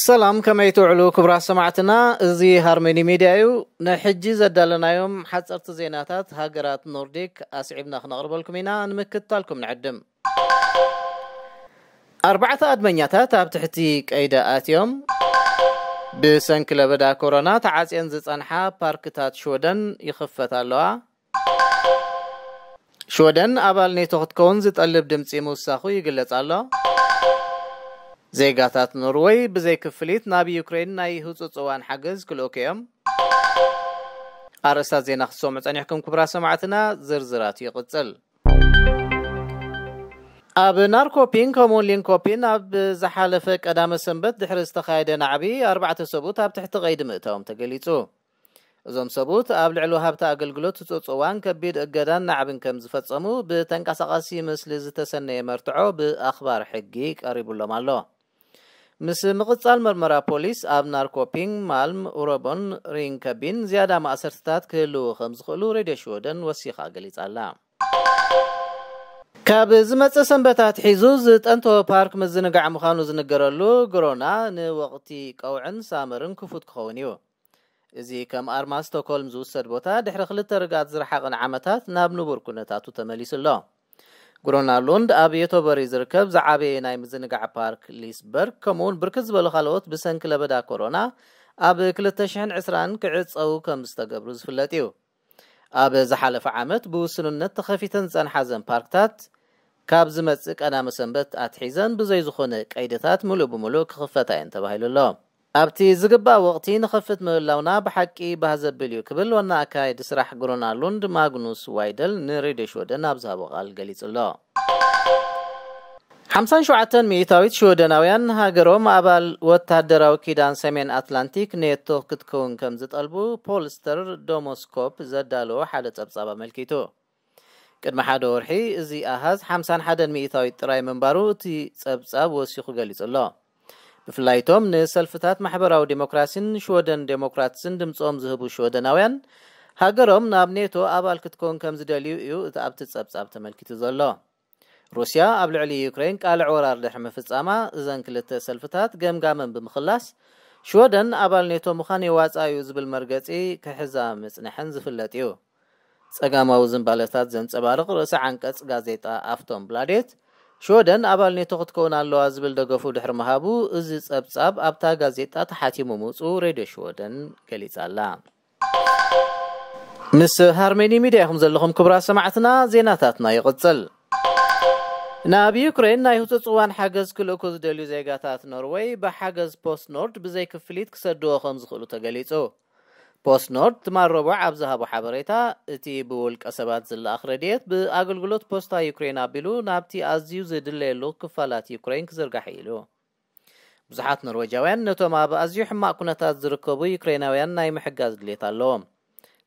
ሰላም፣ ከመይ ትውዕሉ ክቡራት ሰማዕትና? እዚ ሃርመኒ ሚድያ እዩ። ንሕጂ ዘዳለናዮም ሓፀርቲ ዜናታት ሃገራት ኖርዲክ ኣስዒብና ክነቕርበልኩም ኢና። ንምክትታልኩም ንዕድም። ኣርባዕተ ኣድመኛታት ኣብ ትሕቲ ቀይዲ ኣትዮም። ብሰንኪ ለበዳ ኮሮና ተዓፅየን ዝፀንሓ ፓርክታት ሽወደን ይኽፈታ ኣለዋ። ሽወደን ኣባል ኔቶ ክትከውን ዝጠልብ ድምፂ ምውሳኹ ይግለጽ ኣሎ። ዜጋታት ኖርወይ ብዘይ ክፍሊት ናብ ዩክሬን ናይ ህጹጽ እዋን ሓገዝ ክልእኩ እዮም። ኣርእስታት ዜና ክትሰምዑ ጸኒሕኩም ክቡራት ሰማዕትና፣ ዝርዝራቱ ይቕጽል። ኣብ ናርኮፒን ከምኡውን ሊንኮፒን ኣብ ዝሓለፈ ቀዳመ ሰንበት ድሕሪ ዝተኻየደ ናዕቢ ኣርባዕተ ሰብኡት ኣብ ትሕቲ ቀይዲ ምእታዎም ተገሊጹ። እዞም ሰብኡት ኣብ ልዕሊ ወሃብቲ ኣገልግሎት ህጹጽ እዋን ከቢድ እገዳን ናዕብን ከም ዝፈጸሙ ብተንቀሳቓሲ ምስሊ ዝተሰነየ መርትዖ ብኣኽባር ሕጊ ቀሪቡሎም ኣሎ። ምስ ምቕጻል መርመራ ፖሊስ ኣብ ናርኮፒንግ፣ ማልም፣ ኡረቦን ሪንከቢን ዝያዳ ማእሰርትታት ክህልዉ ከም ዝኽእሉ ሬድዮ ሽወደን ወሲኻ ገሊጻ ኣላ። ካብ ዝመጽእ ሰንበት ኣትሒዙ ዝጠንቶ ፓርክ ምዝንጋዕ ምዃኑ ዝንገረሉ ግሮና ንወቕቲ ቀውዕን ሳመርን ክፉት ክኸውን እዩ። እዚ ከም ኣርማ ስቶክሆልም ዝውሰድ ቦታ ድሕሪ ክልተ ርግኣት ዝረሓቐን ዓመታት ናብ ንቡር ኩነታቱ ተመሊሱ ኣሎ። ግሮና ሉንድ ኣብ የቶበሪ ዝርከብ ዝዓበየ ናይ ምዝንጋዕ ፓርክ ሊስበርግ ከምኡውን ብርክት ዝበሉ ካልኦት ብሰንኪ ለበዳ ኮሮና ኣብ ክልተ ሽሕን ዕስራን ክዕጸዉ ከም ዝተገብሩ ዝፍለጥ እዩ። ኣብ ዝሓለፈ ዓመት ብውስንነት ተኸፊተን ዝጸንሓ ዘን ፓርክታት ካብ ዝመጽእ ቀዳመ ሰንበት ኣትሒዘን ብዘይ ዝኾነ ቀይድታት ምሉእ ብምሉእ ክኽፈታ እየን ተባሂሉ ኣሎ። ኣብቲ ዝግባእ ወቕቲ ንኸፍት ምህላውና ብሓቂ ባህ ዘብል እዩ ክብል ዋና ኣካያዲ ስራሕ ግሮና ሉንድ ማግኑስ ዋይደል ንሬድዮ ሽወደን ኣብ ዝሃቦ ቃል ገሊጹ ኣሎ። ሓምሳን ሸውዓተን ሚእታዊት ሽወደናውያን ሃገሮም ኣባል ወታደራዊ ኪዳን ሰሜን ኣትላንቲክ ኔቶ ክትከውን ከም ዝጠልቡ ፖልስተር ዶሞስኮፕ ዘዳለዎ ሓደ ጸብጻብ ኣመልኪቱ። ቅድሚ ሓደ ወርሒ እዚ ኣሃዝ ሓምሳን ሓደን ሚእታዊት ጥራይ ምንባሩ እቲ ጸብጻብ ወሲኹ ገሊጹ ኣሎ። ብፍላይ እቶም ንሰልፍታት ማሕበራዊ ዴሞክራሲን ሽወደን ዴሞክራትስን ድምጾም ዝህቡ ሽወደናውያን ሃገሮም ናብ ኔቶ ኣባል ክትከውን ከም ዝደልዩ እዩ እቲ ኣብቲ ጸብጻብ ተመልኪቱ ዘሎ። ሩስያ ኣብ ልዕሊ ዩክሬን ቃልዕ ወራር ድሕሪ ምፍጻማ እዘን ክልተ ሰልፍታት ገምጋመን ብምኽላስ ሽወደን ኣባል ኔቶ ምዃን የዋጻ እዩ ዝብል መርገጺ ክሕዛ ምጽንሐን ዝፍለጥ እዩ። ጸጋማዊ ዝንባለታት ዘንጸባርቕ ርእሰ ዓንቀጽ ጋዜጣ ኣፍቶን ብላዴት ሽወደን ኣባል ኔቶ ክትከውን ኣለዋ ዝብል ደገፉ ድሕሪ ምሃቡ እዚ ጸብጻብ ኣብታ ጋዜጣ ተሓቲሙ ምውጽኡ ሬድዮ ሽወደን ገሊጻ ኣላ። ምስ ሃርሜኒ ሚድያ ኢኹም ዘለኹም ክቡራት ሰማዕትና፣ ዜናታትና ይቕጽል። ናብ ዩክሬን ናይ ህጹጽ እዋን ሓገዝ ክልእኩ ዝደልዩ ዜጋታት ኖርወይ ብሓገዝ ፖስት ኖርድ ብዘይ ክፍሊት ክሰድዎ ከም ዝኽእሉ ተገሊጹ። ፖስት ኖርድ ትማል ረቡዕ ኣብ ዝሃቦ ሓበሬታ፣ እቲ ብውልቀ ሰባት ዝለኣኽ ረድኤት ብኣገልግሎት ፖስታ ዩክሬን ኣቢሉ ናብቲ ኣዝዩ ዝድለየሉ ክፋላት ዩክሬን ክዝርጋሕ ኢሉ። ብዙሓት ኖርዌጃውያን ነቶም ኣብ ኣዝዩ ሕማቕ ኩነታት ዝርከቡ ዩክሬናውያን ናይ ምሕጋዝ ድሌት ኣለዎም።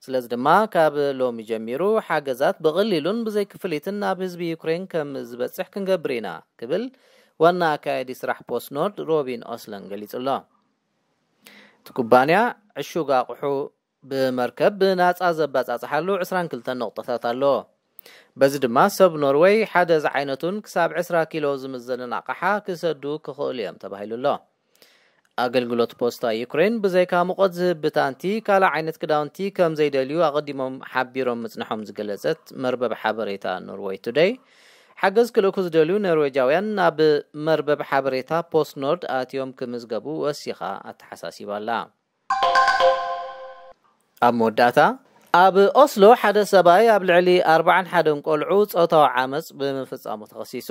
ስለዚ ድማ ካብ ሎሚ ጀሚሩ ሓገዛት ብቐሊሉን ብዘይ ክፍሊትን ናብ ህዝቢ ዩክሬን ከም ዝበጽሕ ክንገብር ኢና ክብል ዋና ኣካያዲ ስራሕ ፖስት ኖርድ ሮቢን ኦስለን ገሊጹ ኣሎ። እቲ ኩባንያ ዕሹግ ኣቑሑ ብመርከብ ብናጻ ዘባጻጽሓሉ ዕስራን ክልተን ነቑጣታት ኣለዎ። በዚ ድማ ሰብ ኖርወይ ሓደ ዝዓይነቱን ክሳብ ዕስራ ኪሎ ዝምዘንን ኣቕሓ ክሰዱ ክኽእሉ እዮም ተባሂሉ ኣሎ። ኣገልግሎት ፖስታ ዩክሬን ብዘይካ ሙቐት ዝህብ ብታንቲ ካልእ ዓይነት ክዳውንቲ ከም ዘይደልዩ ኣቐዲሞም ሓቢሮም ምጽንሖም ዝገለጸት መርበብ ሓበሬታ ኖርወይ ቱደይ፣ ሓገዝ ክልእኩ ዝደልዩ ኖርዌጃውያን ናብ መርበብ ሓበሬታ ፖስት ኖርድ ኣትዮም ክምዝገቡ ወሲኻ ኣተሓሳሲባ ኣላ። ኣብ መወዳእታ፣ ኣብ ኦስሎ ሓደ ሰብኣይ ኣብ ልዕሊ ኣርባዓን ሓደን ቆልዑ ጾታዊ ዓመጽ ብምፍጻሙ ተኸሲሱ።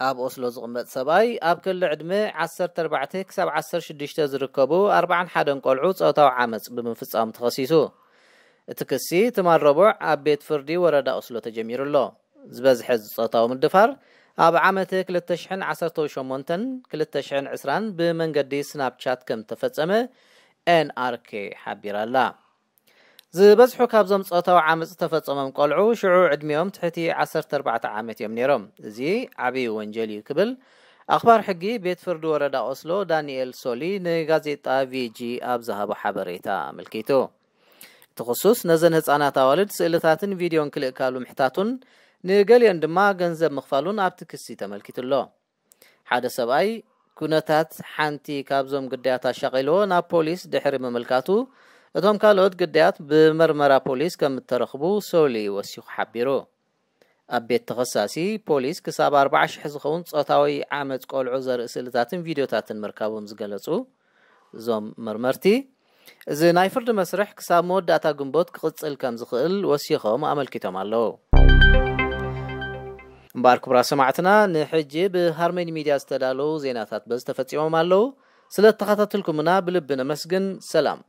ኣብ ኦስሎ ዝቕመጥ ሰብኣይ ኣብ ክሊ ዕድመ ዓሰርተ ኣርባዕተ ክሳብ ዓሰርተ ሽዱሽተ ዝርከቡ ኣርባዓን ሓደን ቆልዑ ጾታዊ ዓመጽ ብምፍጻሙ ተኸሲሱ። እቲ ክሲ ትማል ረቡዕ ኣብ ቤት ፍርዲ ወረዳ ኦስሎ ተጀሚሩ ኣሎ። ዝበዝሐ እዚ ጾታዊ ምድፋር ኣብ ዓመት ክልተ ሽሕን ዓሰርተ ሸሞንተን ክልተ ሽሕን ዕስራን ብመንገዲ ስናፕቻት ከም ተፈጸመ ኤንኣርኬ ሓቢራ ኣላ። ዝበዝሑ ካብዞም ጾታዊ ዓመጽ ዝተፈጸሞም ቆልዑ ሽዑ ዕድሚኦም ትሕቲ ዓሰርተ ኣርባዕተ ዓመት እዮም ነይሮም። እዚ ዓብዪ ወንጀል እዩ ክብል ኣኽባር ሕጊ ቤት ፍርዲ ወረዳ ኦስሎ ዳንኤል ሶሊ ንጋዜጣ ቪጂ ኣብ ዝሃቦ ሓበሬታ ኣመልኪቱ። እቲ ክሱስ ነዘን ህጻናት ኣዋልድ ስእልታትን ቪድዮን ክልእካሉ ምሕታቱን ንገሊኦን ድማ ገንዘብ ምኽፋሉን ኣብቲ ክሲ ተመልኪቱ ኣሎ። ሓደ ሰብኣይ ኩነታት ሓንቲ ካብዞም ግዳያት ኣሻቒልዎ ናብ ፖሊስ ድሕሪ ምምልካቱ፣ እቶም ካልኦት ግዳያት ብመርመራ ፖሊስ ከም እተረኽቡ ሶሊ ወሲኹ ሓቢሩ። ኣብ ቤት ተኸሳሲ ፖሊስ ክሳብ ኣርባዓ ሽሕ ዝኸውን ጾታዊ ዓመጽ ቆልዑ ዘርኢ ስእልታትን ቪድዮታትን ምርካቦም ዝገለጹ እዞም መርመርቲ፣ እዚ ናይ ፍርዲ መስርሕ ክሳብ መወዳእታ ግንቦት ክቕጽል ከም ዝኽእል ወሲኾም ኣመልኪቶም ኣለዉ። እምበኣር ክቡራት ሰማዕትና፣ ንሕጂ ብሃርመኒ ሚድያ ዝተዳለዉ ዜናታት በዚ ተፈጺሞም ኣለዉ። ስለ እተኸታተልኩምና ብልቢ ነመስግን። ሰላም።